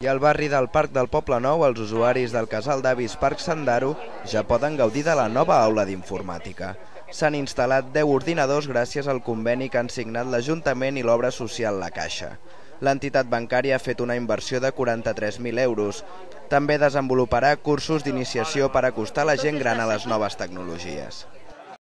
I al barri del Parc del Poble Nou, els usuaris del casal d'avis Parc Sandaro ja poden gaudir de la nova aula d'informàtica. S'han instal·lat 10 ordinadors gràcies al conveni que han signat l'Ajuntament i l'obra social La Caixa. L'entitat bancària ha fet una inversió de 43.000 euros. També desenvoluparà cursos d'iniciació per acostar la gent gran a les noves tecnologies.